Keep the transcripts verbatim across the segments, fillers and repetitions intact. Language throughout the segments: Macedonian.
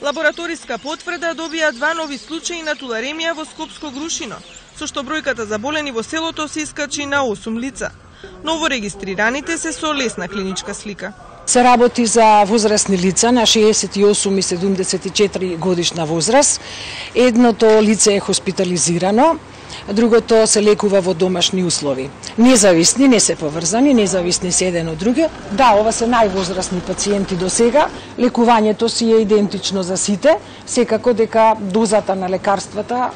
Лабораториска потврда добија два нови случаи на туларемија во Скопско Грушино, со што бројката заболени во селото се искачи на осум лица. Новорегистрираните се со лесна клиничка слика. Се работи за возрастни лица на шеесет и осум и седумдесет и четири годишна возраст. Едното лице е хоспитализирано, другото се лекува во домашни услови. Независни, не се поврзани, независни се еден од други. Да, ова се највозрастни пациенти до сега. Лекувањето си е идентично за сите, секако дека дозата на лекарствата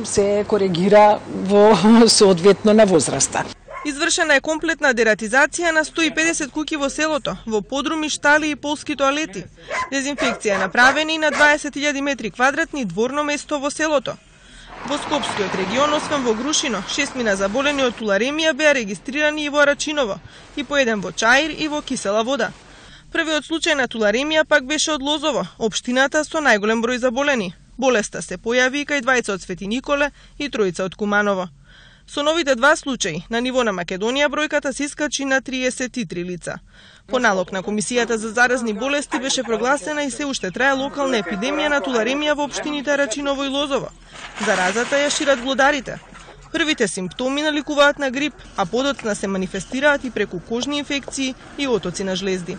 се коригира во соодветно на возраста. Извршена е комплетна дератизација на сто и педесет куќи во селото, во подруми, штали и полски тоалети. Дезинфекција е направена и на дваесет илјади метри квадратни дворно место во селото. Во Скопскиот регион, освен во Грушино, шестмина заболени од туларемија беа регистрирани и во Рачиново, и по еден во Чаир и во Кисела Вода. Првиот случај на туларемија пак беше од Лозово, општината со најголем број заболени. Болеста се појави и кај двајца од Свети Николе и тројца од Куманово. Со новите два случаи, на ниво на Македонија бројката се искачи на триесет и три лица. По налог на Комисијата за заразни болести беше прогласена и се уште трае локална епидемија на туларемија во општините Рачиново и Лозово. Заразата ја шират глодарите. Првите симптоми наликуваат на грип, а подоцна се манифестираат и преку кожни инфекции и отоци на жлезди.